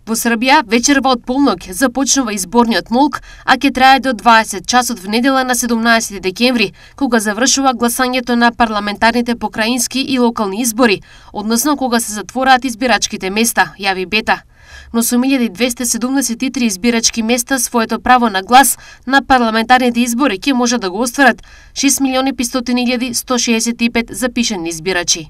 Во Србија, вечерва од полнок започнува изборниот молк, а ќе трае до 20 часот в недела на 17 декември, кога завршува гласањето на парламентарните покраински и локални избори, односно кога се затвораат избирачките места, јави Бета. Но со 1273 избирачки места своето право на глас на парламентарните избори ќе може да го остварат 6.500.165 запишани избирачи.